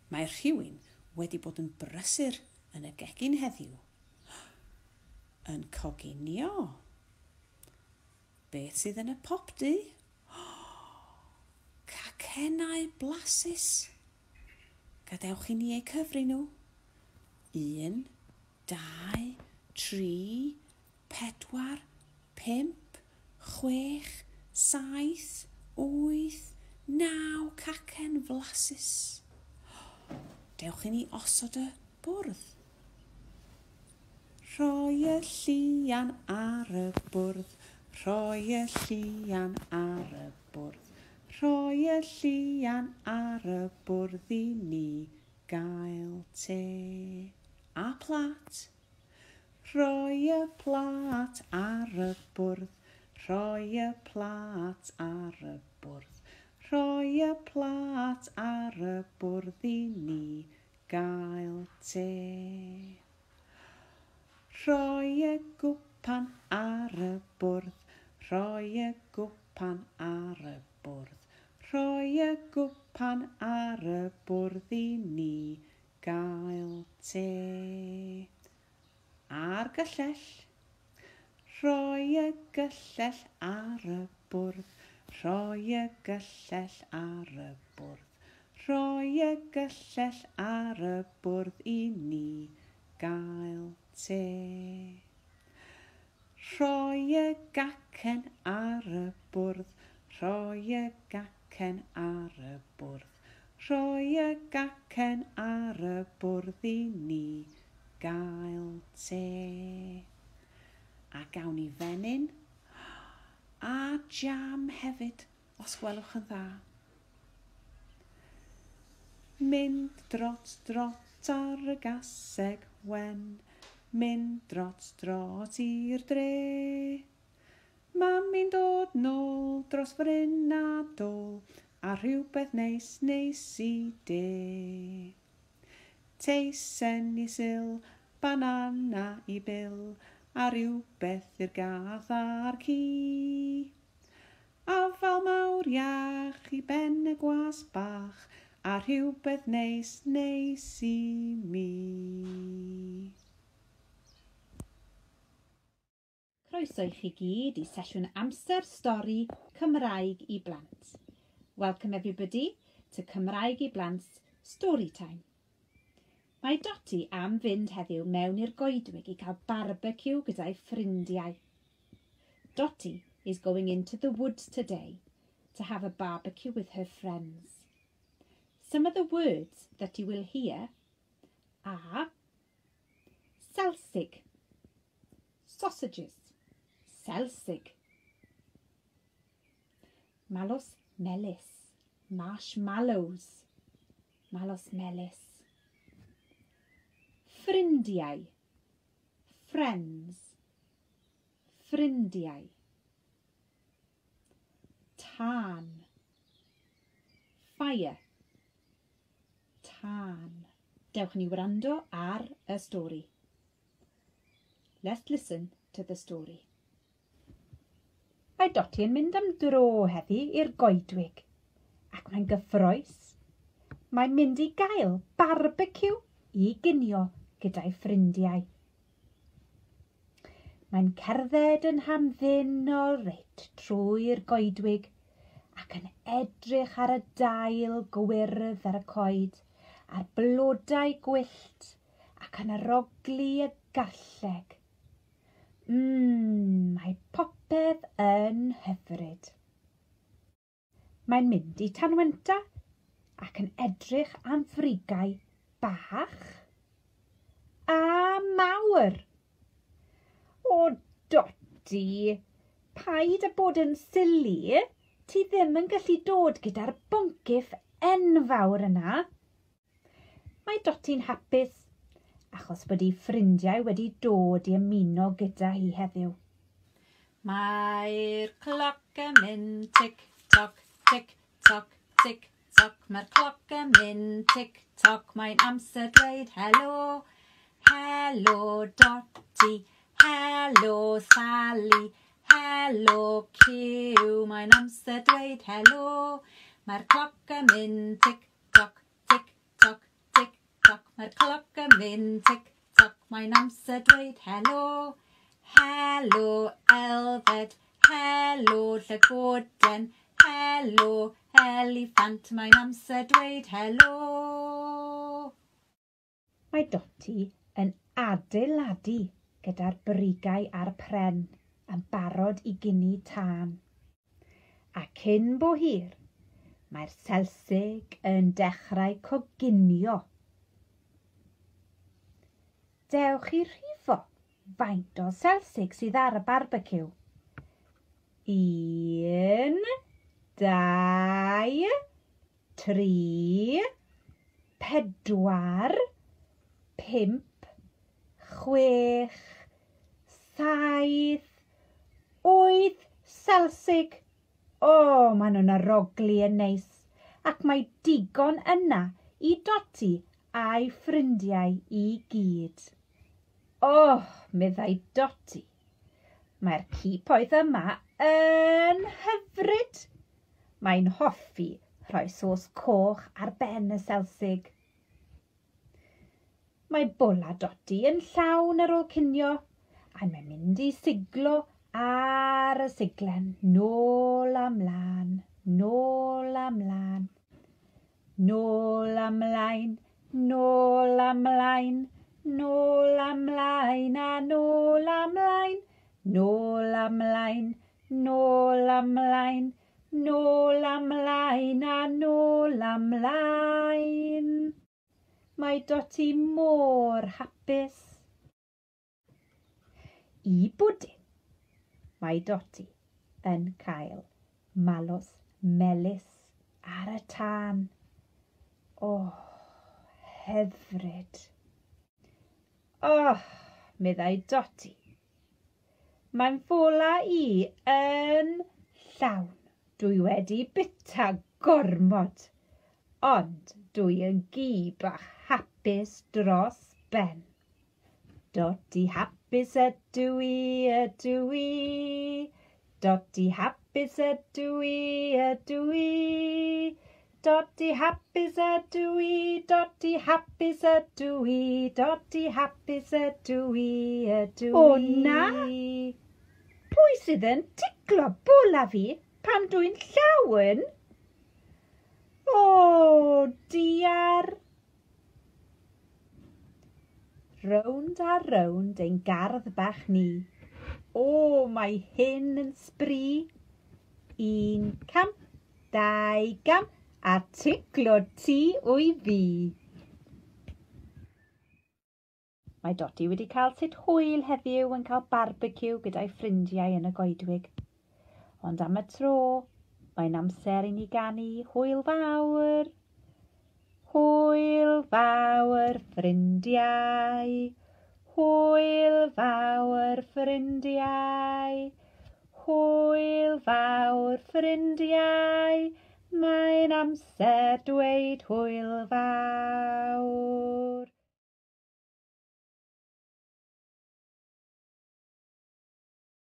Mae rhywun wedi bod yn brysur yn y gegin heddiw. Yn coginio. Beth sydd yn y popty? Cacennau blasus. Gadewch i ni eu cyfri nhw. 1, 2, 3, 4, 5, 6, 7, 8, 9 cacen flasus. Dewch i ni osod y bwrdd. Rhoi y llian ar y bwrdd, rhoi y llian ar y bwrdd, rhoi y llian ar y bwrdd i ni gael te. A plat. Rhoi y plat ar y bwrdd, rhoi y plat ar y bwrdd, rhoi y plat ar y bwrdd i ni gael te. Rhoi y gwpan ar y bwrdd, rhoi y gwpan ar y bwrdd, rhoi y gwpan ar y bwrdd i ni gael te. A'r gyllell. Rhoi y gyllell ar y bwrdd, rhoi y gyllell ar y bwrdd, rhoi y gyllell ar y bwrdd i ni gael te. Rhoi y gacen ar y bwrdd, rhoi y gacen ar y bwrdd, rhoi y gacen ar y bwrdd i ni gael te. A gawn ni fenyn a jam hefyd, os gwelwch yn dda. Mynd drot drot ar y gaseg wen, mynd drot drot i'r dre. Mami'n dod nôl dros fryn a dôl, a rhywbeth neis neis i de. Teisen i Sil, banana i Bil, a rhywbeth i'r gath a'r ci. Afal mawr iach i ben y gwas bach, a rhywbeth neis neis i mi. Croeso i chi gyd i sesiwn amser stori Cymraeg i blant. Welcome everybody to Cymraeg i Blant Story Time. Mae Doti am fynd heddiw mewn i'r goedwig i cael barbecue gyda'i ffrindiau. Doti is going into the woods today to have a barbecue with her friends. Some of the words that you will hear are selsig, sausages, selsig, malws melys, marshmallows, malws melys, ffrindiau, friends, ffrindiau, tân, fire, tân. Dewch ni wrando ar y stori. Let's listen to the story. Mae Doti yn mynd am dro heddi i'r goedwig, ac mae'n gyffrous. Mae'n mynd i gael barbecue i ginio gyda'i ffrindiau. Mae'n cerdded yn hamddenol reit trwy'r goedwig ac yn edrych ar y dail gwyrdd ar y coed, a'r blodau gwyllt ac yn arogli y garlleg. Mae popeth yn hyfryd. Mae'n mynd i Tanwenta ac yn edrych am frigau bach a mawr. O, Doti, paid â bod yn silly. Ti ddim yn gallu dod gyda'r boncyff enfawr yna. Mae Doti'n hapus achos bod ei ffrindiau wedi dod i ymuno gyda hi heddiw. Mae'r cloc yn mynd tic toc, tic toc, tic toc. Mae'r cloc yn mynd tic toc. Mae'n amser dweud helo. Helo Doti, helo Sally, helo Cyw. Mae'n amser dweud helo. Mae'r cloc yn mynd tic toc, tic toc, Mae'r cloc yn mynd tic toc, mae'n amser dweud helo. Helo Elfed, helo llygoden, helo eliffant, mae'n amser dweud helo. Mae Doti yn adeiladu gyda'r brigau a'r pren yn barod i gynnu tân. A cyn bo hir, mae'r selsig yn dechrau coginio. Dewch i rhifo faint o selsig sydd ar y barbeciw. 1, 2, 3, 4, 5, 6, 7, 8 selsig. O, maen nhw'n arogli yn neis, ac mae digon yna i Doti a'i ffrindiau i gyd. O, meddai Doti, mae'r ci poeth yma yn hyfryd. Mae'n hoffi rhoi sos coch ar ben y selsig. Mae bola Doti yn llawn ar ôl cinio, a mae'n mynd i siglo ar y siglen, nôl a mlaen, nôl a mlaen, nôl a mlaen, nôl a mlaen, nôl a mlaen a nôl a mlaen, nôl a mlaen, nôl a mlaen, nôl a mlaen a nôl a mlaen. Mae Doti mor hapus. I bwdin, mae Doti yn cael malws melys ar y tân. O, hyfryd. O, meddai Doti. Mae'n ffola i yn llawn. Dwi wedi bita gormod, ond dwi yn gi bach hapus dros ben. Doti hapus ydw i, ydw i. Doti hapus ydw i, ydw i. Doti hapus ydw i, Doti hapus ydw i, Doti hapus ydw i, ydw i. O na! Pwy sydd yn ticlo bola fi pan dwi'n llawn? O, diar! Rownd a rownd ein gardd bach ni. O, mae hyn yn sbri. 1 cam, 2 gam, a ticlo ti wy fi. Mae Doti wedi cael sut hwyl heddiw yn cael barbeciw gyda'i ffrindiau yn y goedwig. Ond am y tro, mae'n amser i ni ganu hwyl fawr. Hwyl fawr ffrindiau, hwyl fawr ffrindiau, hwyl fawr ffrindiau, mae'n amser dweud hwyl fawr.